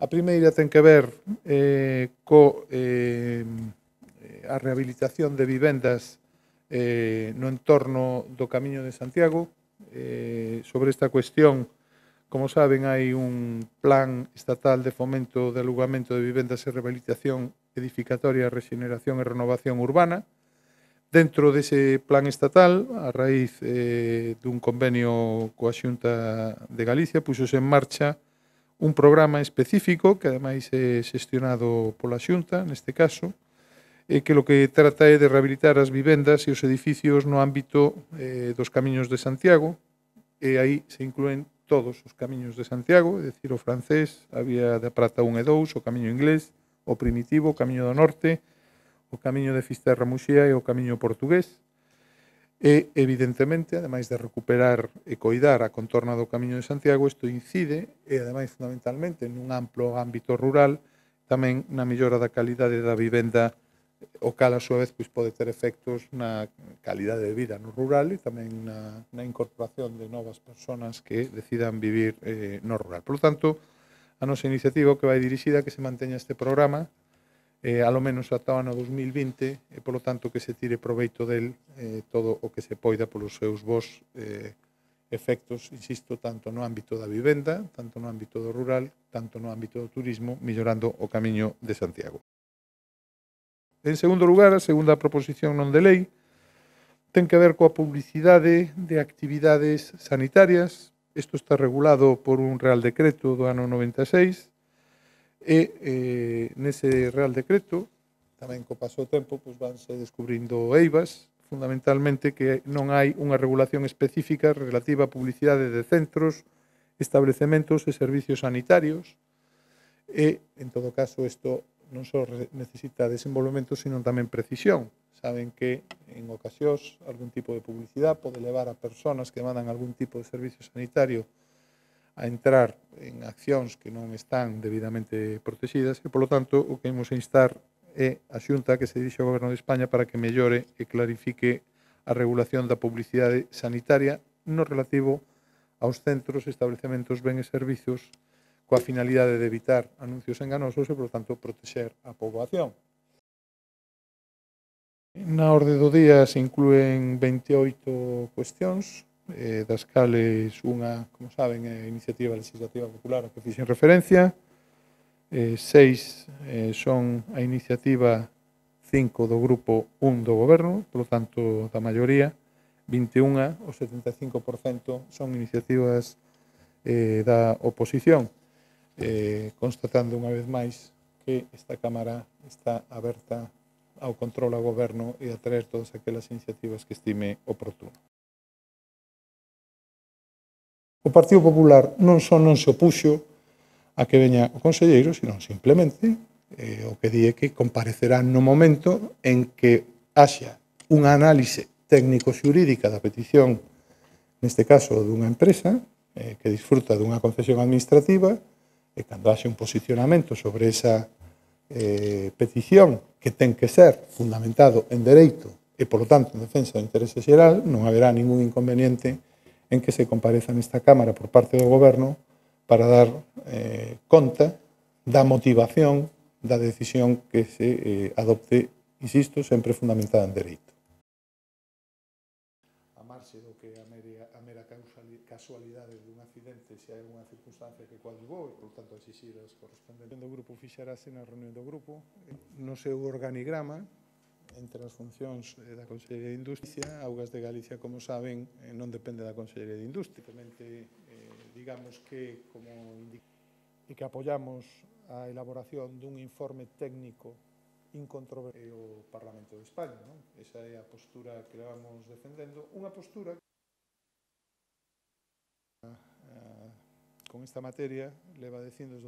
A primeira ten que ver a rehabilitación de vivendas no entorno do Camiño de Santiago. Sobre esta cuestión, como saben, hai un plan estatal de fomento de alugamento de vivendas e rehabilitación edificatoria, rexeneración e renovación urbana. Dentro dese plan estatal, a raíz dun convenio coa Xunta de Galicia, puxose en marcha un programa específico que ademais é xestionado pola Xunta, neste caso, que lo que trata é de rehabilitar as vivendas e os edificios no ámbito dos Camiños de Santiago, e aí se inclúen todos os Camiños de Santiago, é dicir, o francés, a Vía da Prata 1 e 2, o Camiño inglés, o primitivo, o Camiño do Norte, o Camiño de Fisterra-Muxía e o Camiño portugués. E, evidentemente, ademais de recuperar e coidar a contorna do Camiño de Santiago, isto incide, e ademais fundamentalmente nun amplo ámbito rural, tamén na mellora da calidade da vivenda, o cal a súa vez pode ter efectos na calidade de vida no rural e tamén na incorporación de novas persoas que decidan vivir no rural. Por lo tanto, a nosa iniciativa que vai dirixida a que se manteña este programa alo menos ata o ano 2020 e, polo tanto, que se tire proveito del todo o que se poida polos seus bons efectos, insisto, tanto no ámbito da vivenda, tanto no ámbito do rural, tanto no ámbito do turismo, mellorando o Camiño de Santiago. En segundo lugar, a segunda proposición non de lei ten que ver coa publicidade de actividades sanitarias. Isto está regulado por un Real Decreto do ano 96 e nese Real Decreto, tamén co paso do tempo, vanse descubrindo eivas, fundamentalmente que non hai unha regulación específica relativa á publicidade de centros, establecementos e servicios sanitarios e, en todo caso, isto non só necesita desenvolvemento, sino tamén precisión. Saben que, en ocasións, algún tipo de publicidade pode levar a persoas que demandan algún tipo de servicio sanitario a entrar en accións que non están debidamente protegidas e, polo tanto, o que imos a instar é a Xunta que se dirixe ao Goberno de España para que mellore e clarifique a regulación da publicidade sanitaria no relativo aos centros, establecementos, ben e servizos coa finalidade de evitar anuncios enganosos e, por tanto, protexer a poboación. Na orde do día se inclúen 28 cuestións, das cales unha, como saben, é a iniciativa legislativa popular a que fixen referencia, 6 son a iniciativa 5 do grupo 1 do Goberno, polo tanto, da maioría, 21, o 75%, son iniciativas da oposición, constatando unha vez máis que esta Cámara está aberta ao control ao Goberno e a traer todas aquelas iniciativas que estime oportuno. O Partido Popular non só non se opuxo a que veña o conselleiro, sino simplemente o que di é que comparecerá no momento en que haxa unha análise técnico-xurídica da petición, neste caso dunha empresa que disfruta dunha concesión administrativa, e cando haxe un posicionamento sobre esa petición que ten que ser fundamentado en dereito e, polo tanto, en defensa do interese xeral, non haberá ningún inconveniente en que se compareza nesta Cámara por parte do Goberno para dar conta da motivación da decisión que se adopte, insisto, sempre fundamentada en dereito. A marxe do que a mera casualidade dun accidente se hai unha circunstancia que coadyuvou e, por tanto, exixir as correspondentes do grupo fixarase na reunión do grupo no seu organigrama entre as funcións da Consellería de Industria. Augas de Galicia, como saben, non depende da Consellería de Industria. Digamos que que apoiamos a elaboración dun informe técnico incontrovertible o Parlamento de España. Esa é a postura que levamos defendendo, unha postura con esta materia leva dicindo desde